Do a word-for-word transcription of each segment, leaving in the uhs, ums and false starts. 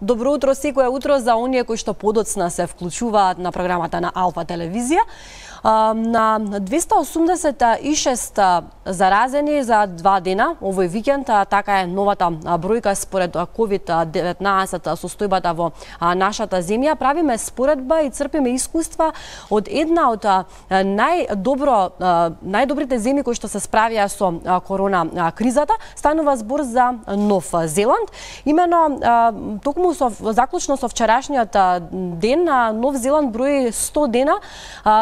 Добро утро секое утро за оние кои што подоцна се вклучуваат на програмата на Алфа телевизија. На двеста осумдесет и шест заразени за два дена овој викенд, така е новата бројка според ковид деветнаесет состојбата во нашата земја. Правиме споредба и црпиме искуства од една од најдобро најдобрите земји кои што се справија со корона кризата. Станува збор за Нов Зеланд. Имено токму со заклучно со вчерашниот ден Нов Зеланд брои сто дена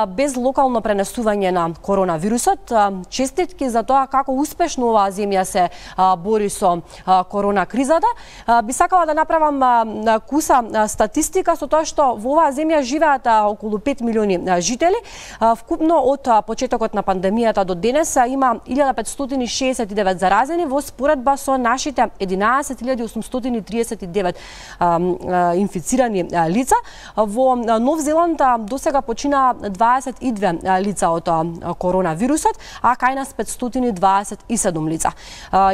без локално пренесување на коронавирусот. Честитки за тоа како успешно оваа земја се бори со корона кризата. Би сакала да направам куса статистика со тоа што во оваа земја живеат околу пет милиони жители. Вкупно од почетокот на пандемијата до денес има илјада петстотини шеесет и девет заразени во споредба со нашите единаесет илјади осумстотини триесет и девет инфицирани лица. Во Нов Зеланд досега почина дваесет и две лица од коронавирусот, а кај нас петстотини дваесет и седум лица.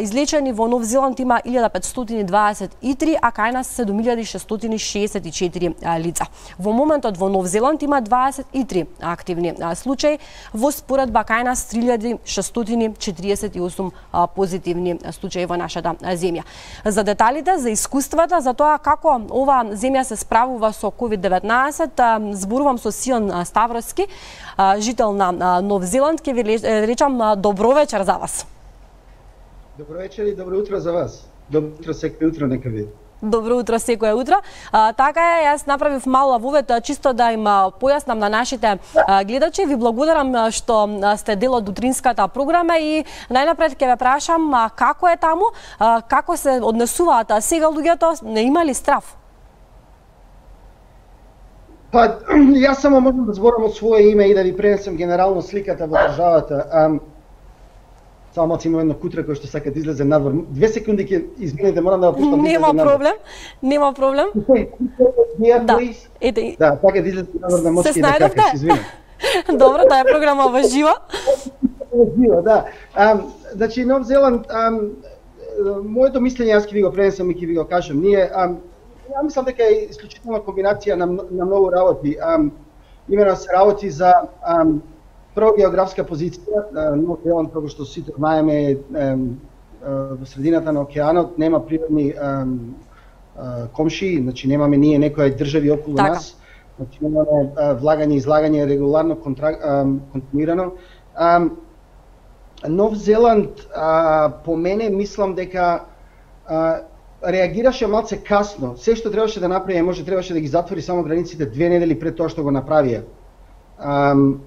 Излечени во Нов Зеланд има илјада петстотини дваесет и три, а кај нас седум илјади шестстотини шеесет и четири лица. Во моментот во Нов Зеланд има дваесет и три активни случаи, во споредба кај нас три илјади шестстотини четириесет и осум позитивни случаи во нашата земја. За деталите, за искуствата, за тоа како ова земја се справува со ковид деветнаесет, зборувам со Сион Ставровски, жител на Нов Зеланд. Ке ви речам добро вечер за вас. Добро вечер и добро утро за вас. Добро утро секој утро нека ви. Добро утро секое утро. А, така е, јас направив мал вовет чисто да им појаснам на нашите а, гледачи. Ви благодарам што сте дел од утринската програма и најнапред ќе ве прашам а, како е таму, а, како се однесуваат сега луѓето, не има ли страв? Па, јас само можам да зборам од свое име и да ви пренесам генерално сликата во државата. А, само малку има едно кутре кој што сака да излезе надвор. Две секунди ќе извинете, морам да го пуштам. Нема проблем, нема проблем. Да, ете. Да, така да излезе надвор на мочки да кака, се извинам. Добро, таа е програма во живо. Во живо, да. А, значи Нов Зеланд, а, моето мислење јас ќе ви го пренесам и ќе ви го кажам. Ние а, ја мислам дека е исклучителна комбинација на, на многу работи. А, имено се работи за а, прво географска позиција. Нов Зеланд, како што сите знаеме, е во средината на океанот, нема природни а, а, комши, значи немаме ние некои држави околу така. Нас. Значи немаме а, влагање и излагање регуларно, контра, а, континуирано. А, Нов Зеланд, а, по мене, мислам дека а, реагираше малце касно. Се што требаше да направи, може требаше да ги затвори само границите две недели пред тоа што го направија. Um,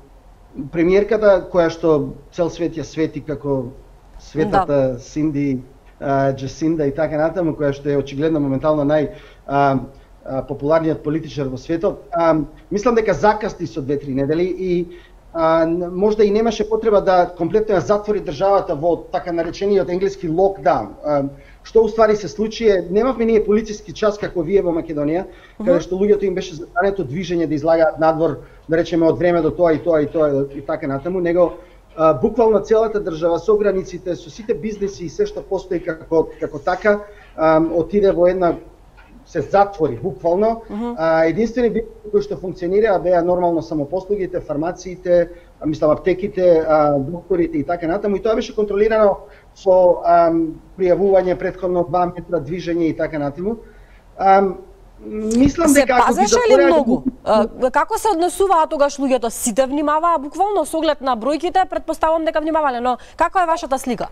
премиерката, која што цел свет ја свети како светата да. Синди, uh, Джасинда и така натаму, која што е очигледно моментално нај uh, uh, популарниот политичар во светот, um, мислам дека закасни со две-три недели и uh, можда и немаше потреба да комплетно ја затвори државата во така наречениот енглески локдаун. Uh, Што уствари се случи е, немавме ние полициски час како вие во Македонија, uh -huh. каде што луѓето им беше забрането движење да излагаат надвор, да речеме од време до тоа и тоа и тоа и така натаму, него а, буквално целата држава со границите, со сите бизнеси и се што постои како како така, а, отиде во една се затвори буквално. Uh -huh. а, единствени бизнеси кои што функционираа беа нормално самопослугите, фармациите, мислам аптеките, а, докторите и така натаму, и тоа беше контролирано со ам, пријавување претходно два метра движење и така натаму. Ам, мислам се дека ако пазеше ли многу? А, како се однесуваа тогаш луѓето? Сите внимаваа буквално со оглед на бројките, претпоставувам дека внимавале, но како е вашата слика?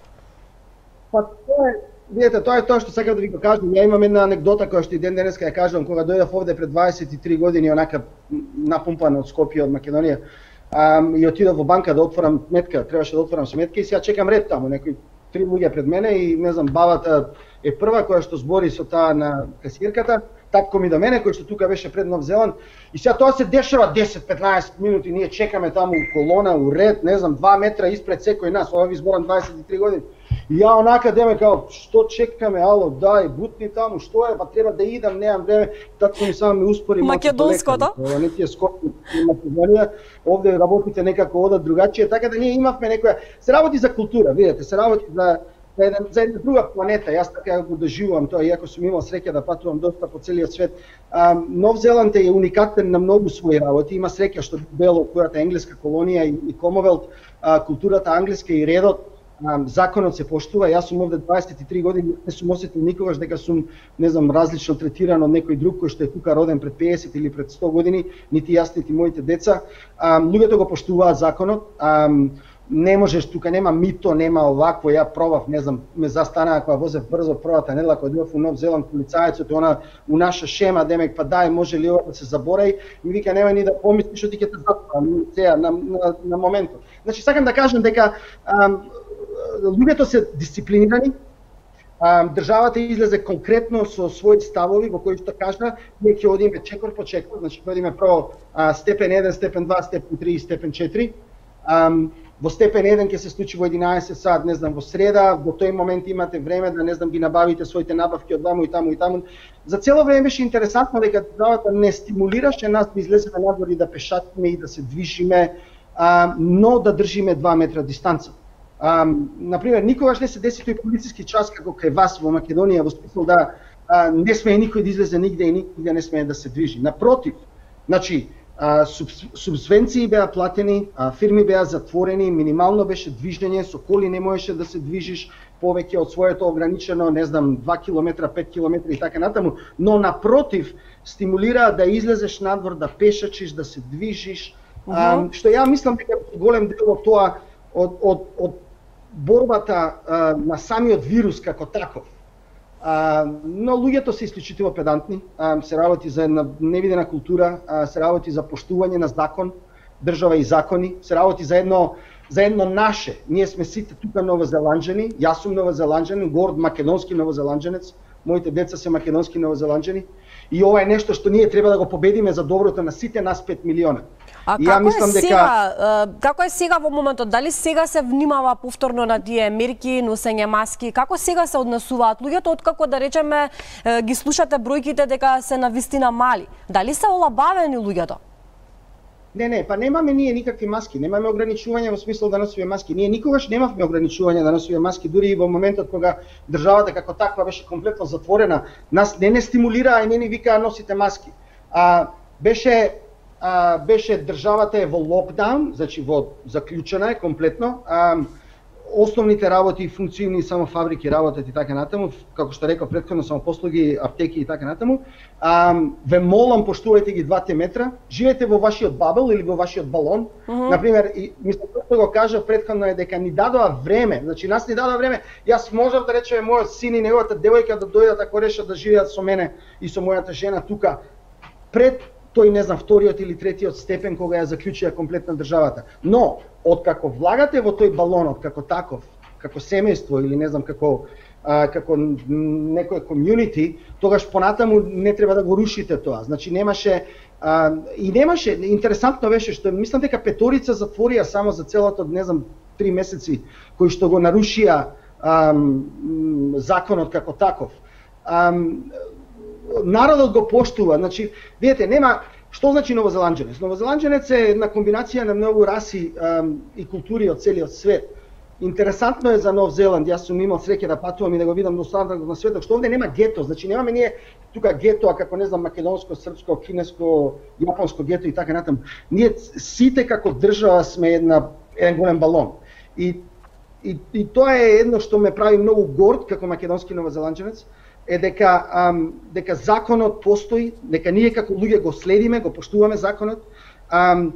Па тоа е, видете, тоа е тоа што сакам да ви го кажам. Ја имам една анекдота која што и ден денеска ја кажам, кога дојдов овде пред дваесет и три години, онака напумпан од Скопје, од Македонија, ам, и отидов во банка да отворам сметка, требаше да отворам сметка и сега чекам ред таму, некои три луѓе пред мене и не знам, бабата е прва која што збори со таа на касиерката, татко ми до мене кој што тука беше пред Нов Зеланд и сега тоа се дешава десет-петнаесет минути, ние чекаме таму у колона, у ред, не знам, два метра испред секој нас, ова ви зборам дваесет и три години. И ја онака деме као, што чекаме, ало, дај, бутни таму, што е, па треба да идам, немам време, татко ми само ми успори македонското. Ова не ти е Скопје, Македонија, овде работите некако одат другачие, така да ние имавме некоја, се работи за култура, видете, се работи за за една, за една друга планета. Јас така го доживувам тоа, иако сум имал среќа да патувам доста по целиот свет. А, Нов Зеланд е уникатен на многу своји работи. Има среќа што бело којата енглеска колонија и, и Комовелт, а, културата англиска и редот, а, законот се поштува. Јас сум овде дваесет и три години, не сум осетил никогаш дека сум, не знам, различно третиран од некој друг кој што е тука роден пред пеесет или пред сто години, нити јас, нити моите деца. А, луѓето го поштуваат законот. А, Не можеш, тука нема мито, нема овакво, ја пробав, не знам, ме застанаа кога возев брзо првата недела кога дојдов у Нов Зеланд, полицајецот, она у наша шема, демек, па дај, може ли ова да се заборави, ми вика, нема ни да помислиш, што ти ќе те затворам, сега, на, на, на моментот. Значи, сакам да кажам дека ам, луѓето се дисциплинирани, ам, државата излезе конкретно со своји ставови, во кои што кажа, ние ќе одиме чекор по чекор, значи ќе одиме прво а, степен еден, степен два, степен три и степен четири. Ам, Во степен еден ќе се случи во единаесет сат, не знам, во среда, во тој момент имате време да, не знам, ги набавите своите набавки од ваму и таму и таму. За цело време беше интересантно дека државата не стимулираше нас да излеземе надвор и да пешачиме и да се движиме, а, но да држиме два метра дистанца. А, например, никогаш не се деси тој полициски час како кај вас во Македонија, во смисла да а, не смее никој да излезе нигде и нигде не смее да се движи. Напротив, значи, А, суб, субвенции беа платени, а, фирми беа затворени, минимално беше движење, со коли не можеше да се движиш повеќе од своето ограничено, не знам, два километра, пет километри и така натаму, но напротив, стимулираа да излезеш надвор, да пешачиш, да се движиш, uh -huh. а, што ја мислам дека голем дел од тоа, од, од, од борбата а, на самиот вирус како таков. А, но луѓето се исклучително педантни, а, се работи за една невидена култура, а, се работи за поштување на закон, држава и закони, се работи за едно за едно наше. Ние сме сите тука новозеланџани, јас сум новозеланџанин, горд македонски новозеланџанец, моите деца се македонски новозеланџани и ова е нешто што ние треба да го победиме за доброто на сите нас пет милиона. А и како мислам е сега, дека... како е сега во моментот? Дали сега се внимава повторно на тие мерки, носење маски? Како сега се однесуваат луѓето откако, да речеме, ги слушате бројките дека се навистина мали? Дали се олабавени луѓето? Не, не, па немаме ние никакви маски, немаме ограничување во смисла да носиме маски. Ние никогаш немавме ограничување да носиме маски, дури и во моментот кога државата како таква беше комплетно затворена, нас не не стимулираа и не ни викаа носите маски. А беше а, беше државата е во локдаун, значи во заклучена е комплетно. А, основните работи и функционални само фабрики работат и така натаму, како што реков претходно, само послуги, аптеки и така натаму. А, ве молам, поштувајте ги двата метра, живеете во вашиот бабел или во вашиот балон. Uh -huh. Например, и мислам што го кажа претходно е дека ни дадоа време, значи нас ни дадоа време. Јас можев да речеме мојот син и неговата девојка да дојдат ако решат да живеат со мене и со мојата жена тука пред тој, не знам, вториот или третиот степен кога ја заклучија комплетна државата. Но, откако влагате во тој балонот како таков, како семејство или не знам како а, како некој комјунити, тогаш понатаму не треба да го рушите тоа. Значи немаше а, и немаше, интересантно беше што мислам дека петорица затворија само за целото, не знам, три месеци кои што го нарушија а, законот како таков. А, народот го поштува, значи, видите, нема, што значи новозеланџанец? Новозеланџанец е една комбинација на многу раси ам, и култури од целиот свет. Интересантно е за Нов Зеланд, јас сум имал среќа да патувам и да го видам до останатот на светот, што овде нема гето, значи немаме ние тука гетоа како, не знам, македонско, српско, кинеско, јапонско гето и така натаму. Ние сите како држава сме една еден голем балон. И и и тоа е едно што ме прави многу горд како македонски новозеланџанец, е дека ам, дека законот постои, дека ние како луѓе го следиме, го поштуваме законот. Ам,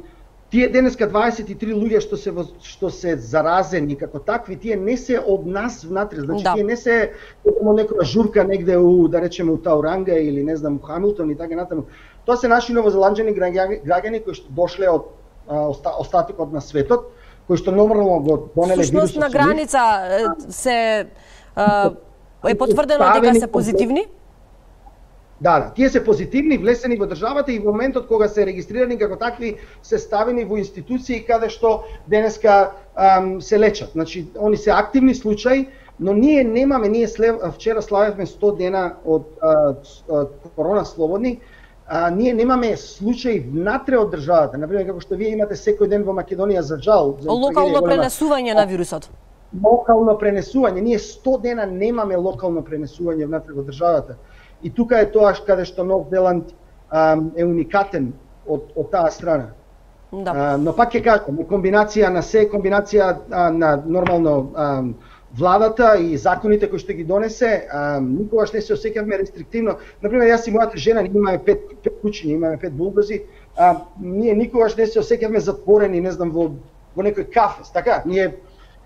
тие денеска дваесет и три луѓе што се што се заразени како такви, тие не се од нас внатре, значи да. Тие не се од некоја журка негде у, да речеме, у Тауранга или не знам, у Хамилтон и така натаму. Тоа се наши новозеланџани граѓани кои што дошле од оста, остатокот на светот, кои што нормално го донеле вирусот. Всушност на граница се а, е потврдено дека се позитивни? Да, да, тие се позитивни, влесени во државата и во моментот кога се регистрирани како такви се ставени во институции каде што денеска ам, се лечат. Значи, они се активни случаи, но ние немаме, ние слев, вчера славевме сто дена од а, а, корона слободни, а, ние немаме случаи внатре од државата. Например, како што вие имате секој ден во Македонија за жал. За локално пренесување на вирусот. локално пренесување. Ние сто дена немаме локално пренесување внатре во државата. И тука е тоа каде што Нов Зеланд ам, е уникатен од, од таа страна. Да. А, но пак ќе кажам, комбинација на се, комбинација а, на нормално а, владата и законите кои што ги донесе, а, никогаш не се осеќавме рестриктивно. Например, јас и мојата жена, ние имаме пет, пет кучиња, имаме пет булдози, а, ние никогаш не се осеќавме затворени, не знам, во, во некој кафе, така? Ние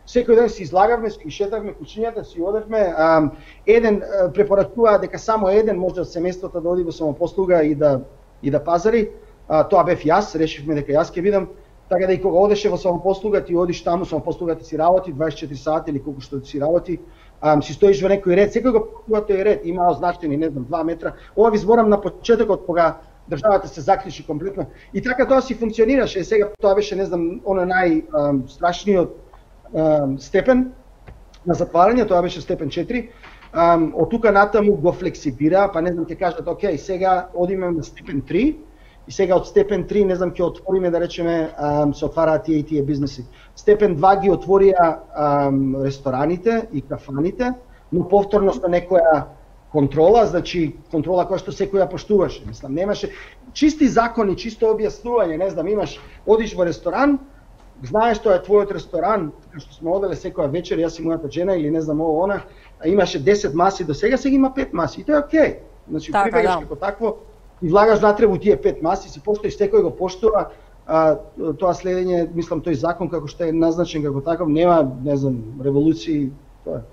секој ден си излагавме, си шетавме кучињата, си одевме. А, еден а, препорачува дека само еден може од семејството да оди во самопослуга и да и да пазари. А, тоа бев јас, решивме дека јас ќе бидам, така да и кога одеше во самопослуга, ти одиш таму, самопослугата си работи дваесет и четири сати или колку што си работи, а, си стоиш во некој ред, секој го патува тој ред, има означени, не знам, два метра. Ова ви зборам на почетокот кога државата се заклучи комплетно. И така тоа си функционираше, сега тоа беше, не знам, оно најстрашниот степен на затварање, тоа беше степен четири. Um, од тука натаму го флексибира, па не знам, ќе кажат, окей, сега одиме на степен три, и сега од степен три, не знам, ќе отвориме, да речеме, um, се отвараат тие и тие бизнеси. Степен два ги отворија um, рестораните и кафаните, но повторно со некоја контрола, значи контрола која што секој ја поштуваше. Мислам, немаше чисти закони, чисто објаснување, не знам, имаш, одиш во ресторан, знаеш тоа е твојот ресторан, така што сме оделе секоја вечер, јас и мојата жена или не знам ово она, имаше десет маси до сега, сега има пет маси и тоа е окей. Значи така, прибегаш да. Како такво и влагаш натре во тие пет маси, си постоиш, секој го поштува, а, тоа следење, мислам, тој закон како што е назначен како таков, нема, не знам, револуции, тоа е.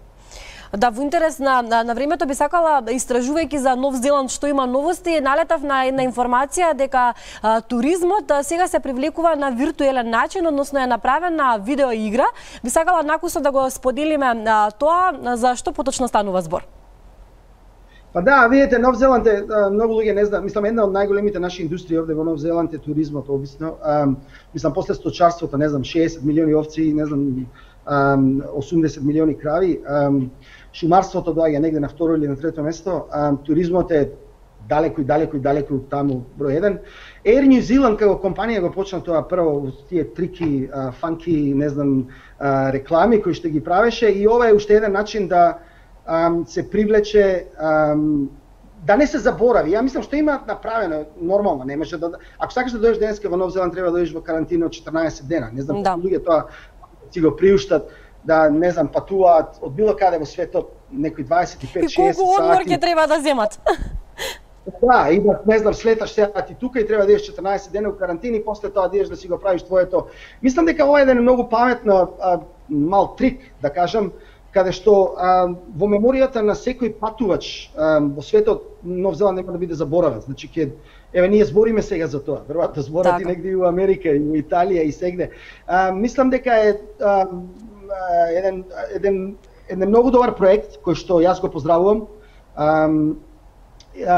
Да, во интерес на, на, на времето би сакала, истражувајќи за Нов Зеланд што има новости, налетав на една информација дека а, туризмот а, сега се привлекува на виртуелен начин, односно е направена видеоигра. Би сакала накусно да го споделиме а, тоа, за што поточно станува збор. Па да, видите, Нов Зеланд е, многу луѓе не знаат, мислам, една од најголемите наши индустрии овде во Нов Зеланд е туризмот, обично. А, мислам, после сточарството, не знам, шеесет милиони овци, не знам, а, осумдесет милиони крави. А, шумарството доаѓа негде на второ или на трето место, а, туризмот е далеку и далеку и далеку таму број еден. Air New Zealand како компанија го почна тоа прво тие трики, а, фанки, не знам, а, реклами кои што ги правеше и ова е уште еден начин да а, се привлече, а, да не се заборави. Ја мислам што има направено нормално, не може да, ако сакаш да дојдеш денеска во Нов Зеланд треба да дојдеш во карантина од четрнаесет дена. Не знам, да. Луѓе тоа си го приуштат, да, не знам, патуваат од било каде во светот, некои дваесет и пет шеесет сати. И колку одмор ќе треба да земат? Да, и да, не знам, слеташ сега ти тука и треба да идеш четрнаесет дена во карантина и после тоа да идеш да си го правиш твоето. Мислам дека ова е еден многу паметно а, мал трик, да кажам, каде што а, во меморијата на секој патувач а, во светот Нов Зеланд нема да биде заборавен. Значи ќе еве ние збориме сега за тоа. Веројатно зборат и негде и во Америка и во Италија и сегде. А, мислам дека е а, еден еден еден многу добар проект кој што јас го поздравувам. А,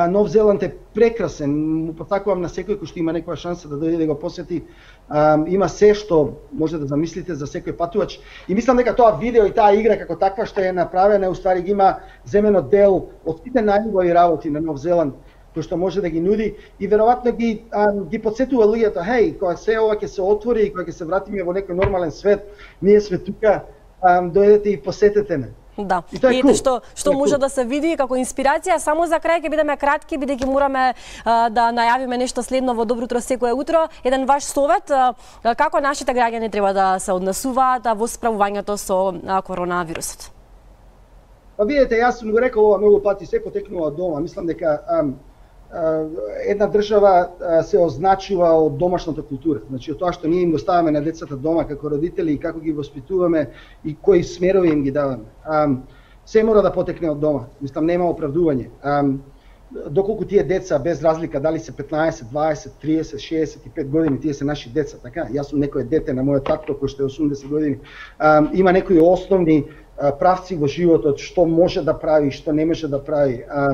Нов Зеланд е прекрасен, му потакувам на секој кој што има некоја шанса да дојде да го посети. Um, има се што може да замислите за секој патувач. И мислам дека тоа видео и таа игра како таква што е направена, уствари ги има земено дел од сите најубави работи на Нов Зеланд кој што може да ги нуди и веројатно ги um, ги потсетува луѓето, хеј, кога се ова ќе се отвори и кога ќе се вратиме во некој нормален свет, ние сме тука, um, дојдете и посетете ме. Да. И, и cool. што што може cool. Да се види како инспирација. Само за крај ќе бидеме кратки, бидејќи мораме а, да најавиме нешто следно во Добро утро секое утро. Еден ваш совет, а, како нашите граѓани треба да се однесуваат во справувањето со а, коронавирусот? Па видете, јас сум го рекол ова многу пати, се потекнува од дома. Мислам дека а, а, една држава а, се означува од домашната култура. Значи од тоа што ние им го ставаме на децата дома како родители и како ги воспитуваме и кои смерови им ги даваме. А, се мора да потекне од дома. Мислам нема оправдување. А, доколку тие деца без разлика дали се петнаесет, дваесет, триесет, шеесет и пет години, тие се наши деца, така? Јас сум некое дете на мојот татко кој што е осумдесет години. А, има некои основни а, правци во животот, што може да прави, што не може да прави. А,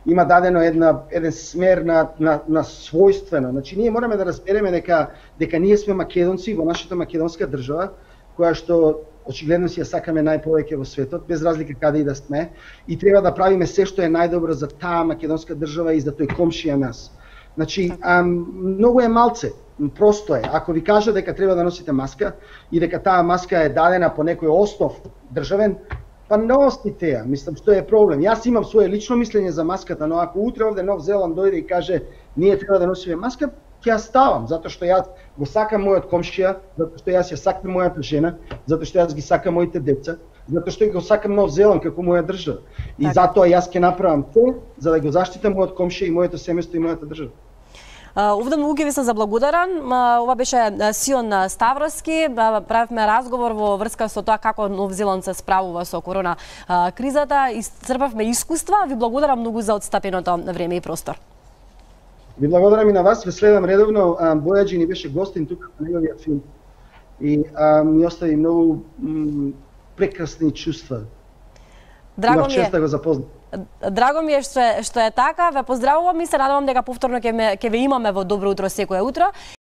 има дадено една еден смер на на на својствено. Значи ние мораме да разбереме дека дека ние сме македонци во нашата македонска држава, која што очигледно си ја сакаме најповеќе во светот, без разлика каде и да сме, и треба да правиме се што е најдобро за таа македонска држава и за тој комшија нас. Значи, ам, многу е малце Просто е, ако ви кажа дека треба да носите маска и дека таа маска е дадена по некој основ државен, па носите ја. Мислам, што е проблем. Јас имам свое лично мислење за маската, но ако утре овде Нов Зеланд дојде и каже ние треба да носиме маска, ќе ја ставам, затоа што јас го сакам мојот комшија, затоа што јас ја сакам мојата жена, затоа што јас ги сакам моите деца, затоа што го сакам Нов Зеланд како моја држава. И така, затоа јас ќе направам се за да го заштитам мојот комшија и моето семејство и мојата држава. Овде многу ви се заблагодарам. Ова беше Сион Ставровски. Правевме разговор во врска со тоа како Нов Зеланд се справува со корона кризата. Исцрпавме искуства. Ви благодарам многу за отстапеното време и простор. Ви благодарам и на вас. Ве следам редовно. Бојаджи ни беше гостин тука на неговиот филм. И а, ми остави многу прекрасни чувства. Драго ми е. Да го запознам. Драго ми е што е, што е така. Ве поздравувам и се надевам дека повторно ќе ме ќе ве имаме во Добро утро секое утро.